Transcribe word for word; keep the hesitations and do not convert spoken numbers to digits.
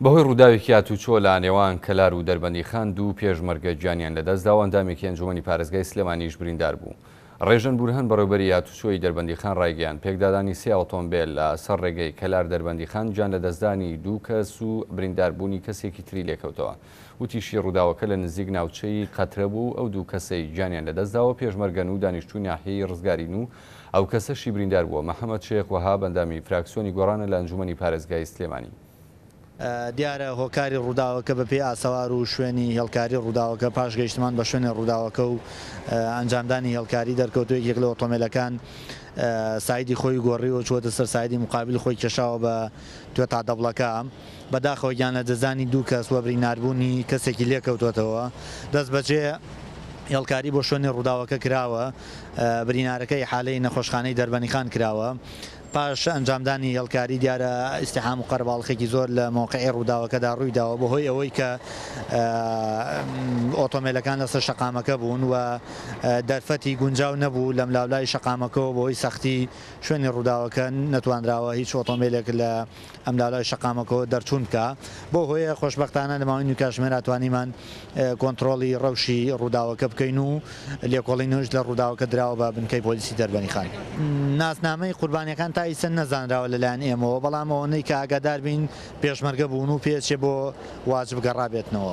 بەهۆی ڕووداوێکی هاتوچۆ لە نێوان کەلار و دەربەندیخان دوو پێشمەرگە گیانیان لەدەستدا و ئەندامێکی ئەنجومەنی پارێزگای سلێمانیش بریندار بوو. ڕێژەن بورهان بەڕێوبەری هاتوچۆی دەربەندیخان ڕایگەیاند پێکدادانی سێ ئۆتۆمبێل لە سەر ڕێگەی کەلار دەربەندیخان گیان لەدەستدانی دوو کەس و برینداربوونی کەسێکی تری لێکەوتەوە. وتیشی ڕووداوەکە لە نزیک ناوچەی قەترە بوو ئەو دوو کەسەی گیانیان لەدەستداوە پێشمەرگەن و دانیشتووی ناحیەی ڕزگارین و ئەو کەسەشی بریندار بووە محەممەد شێخ وەهاب ئەندامی فراکسیۆنی گۆڕانە لە ئەنجومەنی پارێزگای سلێمانی. دیارە هۆکاری ڕووداوەکە بە پێی ئاسەوار و شوێنی هێڵکاری ڕووداوەکە پاش گەیشتمان بە شوێنی ڕووداوەکە و ئەنجامدانی هێڵکاری دەرکەوتووە یەکێک لە ئۆتۆمبیلەکان سایدی خۆی گۆڕی و چووەتە سەر سایدی مقابل خۆی کێشاوە بە توێتا دەبڵەکە. بەداخەوە گیان لەدەستدانی دوو کەس و بریناربوونی کەسێکی لێکەوتوەتەوە. دەست بەجێ هێڵکاری بۆ شوێنی ڕووداوەکە کراوە، برینارەکەی حالەی نەخۆشخانەی دەربەندیخان کراوە. پاش ئەنجامدانی هێڵکاری دیارە ئیستیحام و قەرەباڵخێکی زۆر لە مەوقعی ڕووداوەکەدا ڕوویداوە بەهۆی ئەوەی کە ئۆتۆمبیلەکان لەسەر شەقامەکە بوون و دەرفەتی گونجاو نەبوو لەم لاولای شەقامەکەەوە بەهۆی سەختی شوێنی ڕووداوەکە نەتوانراوە هیچ ئۆتۆمبیلێک لە ئەم لاولای شەقامەکەەوە دەرچوون بکە. بۆ هۆیە خۆشبەختانە لە ماوەی نیو کاتژمێرا توانیمان کۆنترۆڵی ڕەوشی ڕووداوەکە بکەین و لێکۆڵینەوەش لە ڕووداوەکە دراوە بە بنکەی پۆلیسی دەربەندیخان. ناسنامەی قوربانیەکان تا ئیسە نەزانراوە لەلایەن ئێمەوە، بەڵام ئەوەنەی کە ئاگادار بین پێشمەرگە بوون و پێچێ بۆ واجب گەڕابێتنەوە.